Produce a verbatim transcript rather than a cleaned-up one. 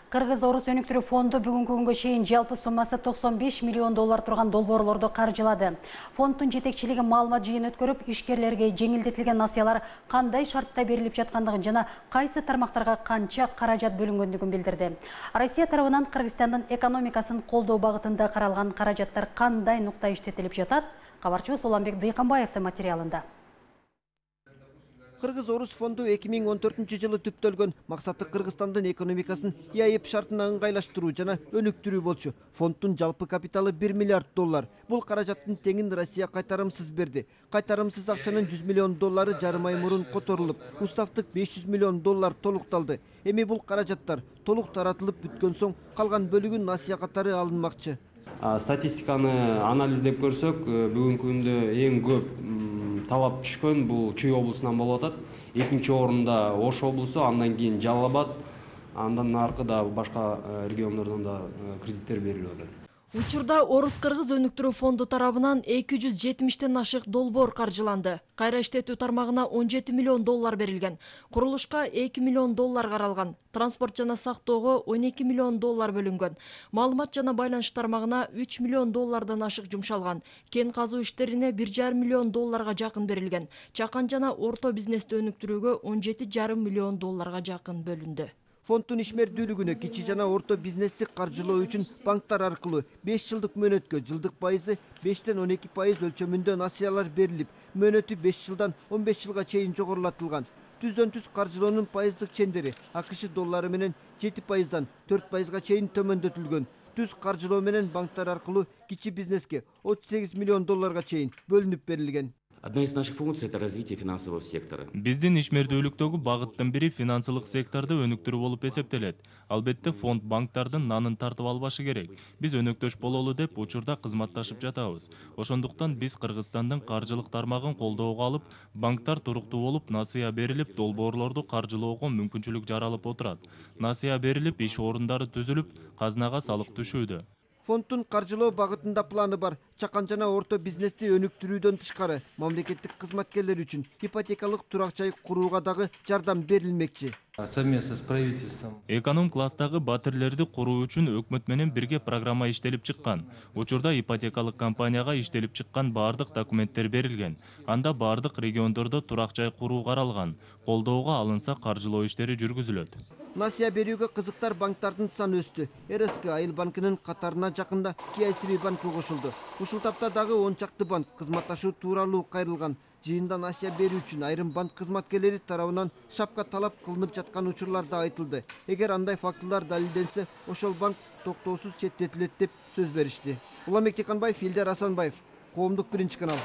Кыргыз-Орус өнүктүрүү фонду бүгүнкү күнгө чейин жалпы суммасы токсон беш миллион доллар турган долбоорлорду каржылады. Фонддун жетекчилиги маалымат жыйын өткөрүп, ишкерлерге жеңилдетилген насыялар кандай шартта берилип жаткандыгын жана кайсы тармактарга канча каражат бөлүнгөндүгүн билдирди. Россия тарабынан Кыргызстандын экономикасын колдоо багытында каралган каражаттар кандай нукта иштетилип жатат? Кабарчыбыз Уланбек Дыйканбаевдин материалында. Кыргыз-Орус фонду эки миң он төртүнчү жылы түптөлгөн. Максаты Кыргызстандын экономикасын ИАЭП шартына ыңгайлаштыруу жана өнүктүрүү болчу. Фонддун жалпы капиталы бир миллиард доллар. Бул каражаттын теңин Россия кайтарымсыз берди. Кайтарымсыз акчанын жүз миллион доллары жарым ай мурун которулуп, уставтык беш жүз миллион доллар толукталды. Эми бул каражаттар толук таратылып бүткөн соң калган бөлүгү насыя катары алынмакчы. Статистиканы анализдеп көрсөк, бүгүнкү күндө эң көп талап түшкөн бул Чүй облусунан болуп атат. Экинчи орунда Ош облусу, андан кийин Жалал Абад, андан аркыда башка региондордон да кредиттер берилип атат. Учурда Орус-Кыргыз өнүктүрүү фонду тарабынан эки жүз жетимиштен ашык долбоор каржыланды. Кайра иштетүү тармагына он жети миллион доллар берилген. Курулушка эки миллион доллар каралган. Транспорт жана сактоого он эки миллион доллар бөлүнгөн. Маалымат жана байланыш тармагына үч миллион доллардан ашык жумшалган. Кен казуу иштерине бир жарым миллион долларга жакын берилген. Чакан жана орто бизнести өнүктүрүүгө он жети жарым миллион долларга жакын бөлүндү. Фонддун ишмердүүлүгүнө кичи жана орто бизнести каржылоо үчүн банктар аркылуу беш жылдык мөөнөткө жылдык пайызы бештен он эки пайыз өлчөмүндө насыялар берилип, мөөнөтү беш жылдан он беш жылга чейин жогорулатылган. Түздөн түз каржылоонун пайыздык чендери АКШ доллары менен жети пайыздан төрт пайызга чейин төмөндөтүлгөн. Түз каржылоо менен банктар аркылуу кичи бизнеске отуз сегиз миллион долларга чейин бөлүнүп берилген. Одна из наших функций – это развитие финансового сектора. Биздин ишмердүүлүктөгү багыттын бири финансылык секторду өнүктүрүү болуп эсептелет. Албетте фонд банктардын нанын тартып албашы керек. Биз өнөктөш бололу деп учурда кызматташып жатабыз. Ошондуктан биз Кыргызстандын каржылык тармагын колдоого алып, банктар туруктуу болуп, насыя берилип, долбоорлорду каржылоого мүмкүнчүлүк жаралып отурат. Насыя берилип, иш орундары түзүлүп, казынага салык түшүүдө. Фонддун каржылоо багытында планы бар. Чакан жана орто бизнести өнүктүрүүдөн тышкары мамлекеттик кызматкерлер үчүн ипотекалык турак жай курууга дагы жардам берилмекчи. Совместно с правительством. Эконом класстагы батирлерди куруу үчүн өкмөт менен бирге программа иштелип чыккан. Учурда ипотекалык компанияга иштелип чыккан баардык документтер берилген. Анда баардык региондордо турак жай куруу каралган. Колдоого алынса каржылоо иштери жүргүзүлөт. Насыя берүүгө кызыктар банктардын саны өстү. РСК Айыл банкынын катарына жакында КСБ банкы кошулду. Ушул тапта дагы он чакты банк кызматташуу тууралуу кайрылган. Жыйында насыя берүү үчүн айрым банк кызматкерлери тарабынан шапка талап кылынып жаткан учурлар да айтылды. Эгер андай фактылар далилденсе, ошол банк токтоосуз четтетилет деп сөз беришти. Уланбек Дыйканбаев, Илдар Асанбаев, Коомдук биринчи канал.